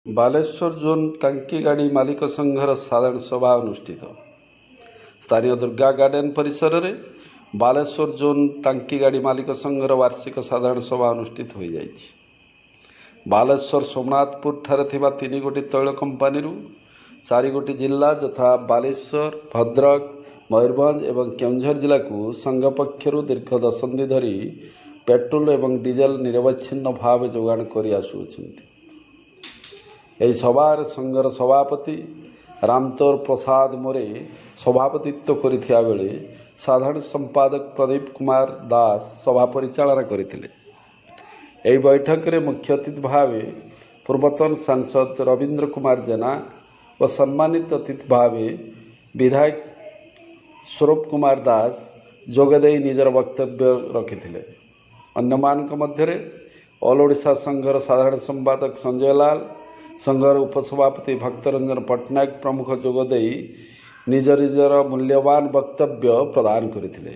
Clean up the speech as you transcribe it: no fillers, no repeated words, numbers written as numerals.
Balasore zone ଟାଙ୍କି ଗାଡ଼ି ମାଲିକ ସଂଘର ସାଧାରଣ ସଭା ଅନୁଷ୍ଠିତ। ସ୍ଥାନୀୟ ଦୁର୍ଗା ଗାର୍ଡେନ ପରିସରରେ ବାଲେଶ୍ୱର ଜୋନ୍ ଟାଙ୍କି ଗାଡ଼ି ମାଲିକ ସଂଘର ବାର୍ଷିକ ସାଧାରଣ ସଭା ଅନୁଷ୍ଠିତ ହୋଇଯାଇଛି। ବାଲେଶ୍ୱର ସୋମନାଥପୁରଠାରେ ଥିବା 3 ଗୋଟି ତୈଳ କମ୍ପାନୀରୁ ଚାରିଗୋଟି ଜିଲ୍ଲା ଯଥା ବାଲେଶ୍ୱର, ଭଦ୍ରକ, ମୟୂରଭଞ୍ଜ ଏବଂ କେଉଁଝର ଜିଲ୍ଲାକୁ ସଂଘ ପକ୍ଷରୁ ଦୀର୍ଘ ଦଶନ୍ଧି ଧରି ପେଟ୍ରୋଲ ଏବଂ ଡିଜେଲ ନିରବଚ୍ଛିନ୍ନ ଭାବେ ଯୋଗାଣ କରି ଆସୁଅଛନ୍ତି। ଏହି ସଭାରେ ସଂଘର ସଭାପତି ରାମତୋର ପ୍ରସାଦ ମୋରେ ସଭାପତିତ୍ୱ କରିଥିବା ବେଳେ ସାଧାରଣ ସମ୍ପାଦକ ପ୍ରଦୀପ କୁମାର ଦାସ ସଭା ପରିଚାଳନା କରିଥିଲେ। ଏହି ବୈଠକରେ ମୁଖ୍ୟ ଅତିଥି ଭାବେ ପୂର୍ବତନ ସାଂସଦ ରବୀନ୍ଦ୍ର କୁମାର ଜେନା ଓ ସମ୍ମାନିତ ଅତିଥି ଭାବେ ବିଧାୟକ ସ୍ୱରୂପ କୁମାର ଦାସ ଯୋଗଦେଇ ନିଜର ବକ୍ତବ୍ୟ ରଖିଥିଲେ। ଅନ୍ୟମାନଙ୍କ ମଧ୍ୟରେ ଅଲ୍ ଓଡ଼ିଶା ସଂଘର ସାଧାରଣ ସମ୍ପାଦକ ସଞ୍ଜୟ ଲାଲ, ସଂଘର ଉପସଭାପତି ଭକ୍ତରଞ୍ଜନ ପଟ୍ଟନାୟକ ପ୍ରମୁଖ ଯୋଗଦେଇ ନିଜ ନିଜର ମୂଲ୍ୟବାନ ବକ୍ତବ୍ୟ ପ୍ରଦାନ କରିଥିଲେ।